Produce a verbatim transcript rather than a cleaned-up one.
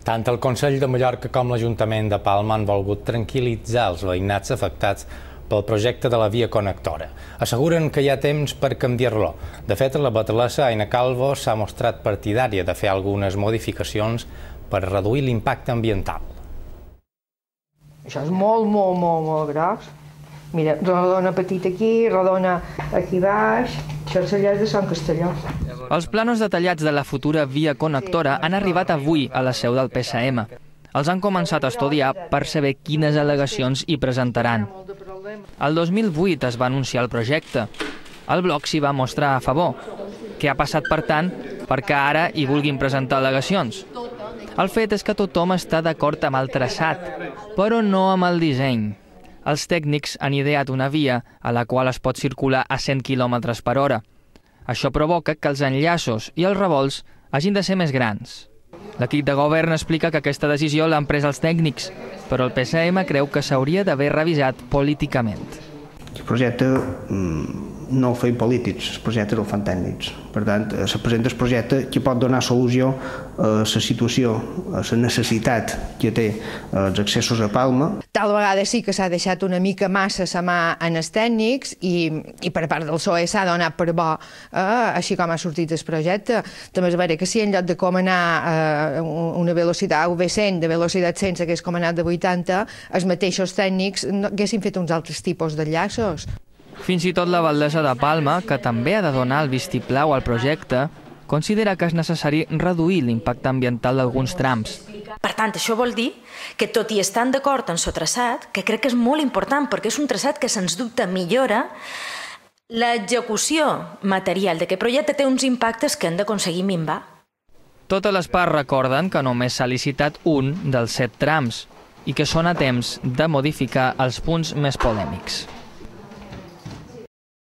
Tant el Consell de Mallorca com l'Ajuntament de Palma han volgut tranquil·litzar els veïnats afectats pel projecte de la via connectora. Asseguren que hi ha temps per canviar-lo. De fet, la batlessa Aina Calvo s'ha mostrat partidària de fer algunes modificacions per reduir l'impacte ambiental. Això és molt, molt, molt, molt gros. Mira, rodona petita aquí, rodona aquí baix. Això és allà de Sant Castelló. Els plànols detallats de la futura via connectora han arribat avui a la seu del P S M. Els han començat a estudiar per saber quines al·legacions hi presentaran. El dos mil vuit es va anunciar el projecte. El bloc s'hi va mostrar a favor. Què ha passat, per tant, perquè ara hi vulguin presentar al·legacions? El fet és que tothom està d'acord amb el traçat, però no amb el disseny. Els tècnics han ideat una via a la qual es pot circular a cent quilòmetres per hora. Això provoca que els enllaços i els revolts hagin de ser més grans. L'equip de govern explica que aquesta decisió l'han pres els tècnics, però el P S M creu que s'hauria d'haver revisat políticament. El projecte no el feien polítics, el projecte el fan tècnics. Per tant, se presenta el projecte que pot donar solució a la situació, a la necessitat que té els accessos a Palma. Tal vegada sí que s'ha deixat una mica massa la mà en els tècnics i, i per part del P S O E s'ha donat per bo, eh, així com ha sortit el projecte. També és vera que si en lloc de comanar eh, una velocitat U V cent, de velocitat cent s'hagués comanat de vuitanta, els mateixos tècnics no, haguessin fet uns altres tipus d'enllaços. Fins i tot la Valdesa de Palma, que també ha de donar el vistiplau al projecte, considera que és necessari reduir l'impacte ambiental d'alguns trams. Per tant, això vol dir que, tot i estant d'acord en el traçat, que crec que és molt important perquè és un traçat que sens dubte millora, l'execució material d'aquest projecte té uns impactes que han d'aconseguir minvar. Totes les parts recorden que només s'ha licitat un dels set trams i que són a temps de modificar els punts més polèmics.